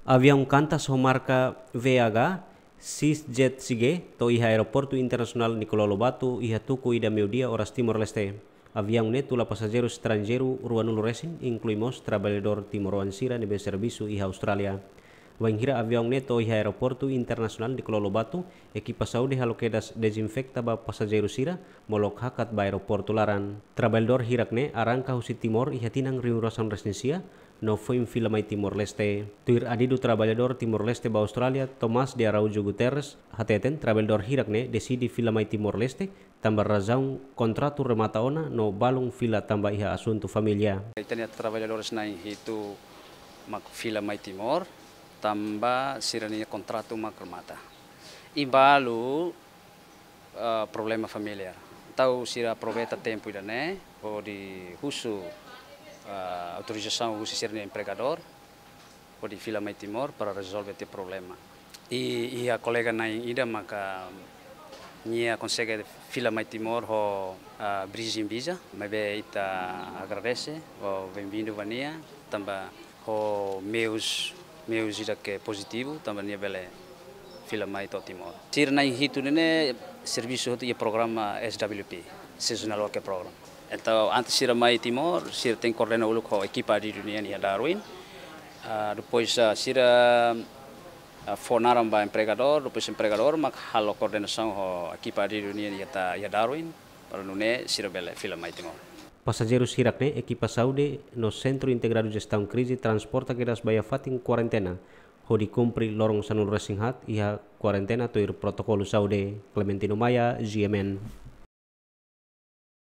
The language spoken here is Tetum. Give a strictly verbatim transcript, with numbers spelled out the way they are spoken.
Aviaun Qantas ho marka V H G, Cisjet Sige, to'o iha Aeroportu Internasionál Nicolau Lobato iha tuku ida meiudia oras Timor-Leste. Aviaun ne'e tula pasajeiru estranjeiru ruanulu resin, inklui mós traballadór timoroan sira ne'ebé servisu iha Austrália. Bainhira aviaun ne'e to'o iha Aeroportu Internasionál Nicolau Lobato, ekipa saúde halo kedas dezinfeta ba pasajeiru sira, molok hakat ba aeroportu laran. Traballadór hirak ne'e arranka husi Timor iha tinan rihun ruasaan resin sia, no foin fila mai Timor-Leste. Tuir adidu traballadór Timor-Leste ba Austrália, Tomás de Araújo Guterres, hateten traballadór hirak ne'e deside fila mai Timor-Leste, tanba razaun kontratu remata ona no balun fila tanba iha asuntu família. Ita-nia traballadores na'in hitu mak fila mai Timor, tanba sira-nia kontratu mak remata. I balu, ah, problema familiár. Entaun sira aproveita tempu ida-ne'e, hodi husu, ah, autorizasaun husi sira-nia empregadór, hodi fila mai Timor para rezolve tiha problema. I, iha kolega na'in ida maka nia konsege fila mai Timor ho, ah, bridging visa, maibé ita agradese, ho benvindu ba nia, tanba ho meius, meius ida ke pozitivu, tanba nia bele fila mai to'o Timor. Sira na'in hitu ne'e servisu hotu iha programa S W P, Seasonal Worker Program. Entaun, antes sira mai Timor, sira tenke koordena uluk ho ekipa adidu nian iha Darwin. Ah, depois, ah, sira, ah, fó naran ba empregadór, depois empregadór mak halo koordenasaun ho ekipa adidu nian iha ta, iha Darwin, para nune'e sira bele fila mai Timor. Pasajeiru hirak ne'e ekipa saúde no Sentru Integradu Jestaun Krize transporta kedas ba iha fatin kuarentena, hodi kumpre loron sanulu resin haat iha kuarentena tuir protokolu saúde. Clementino Maia, G M N.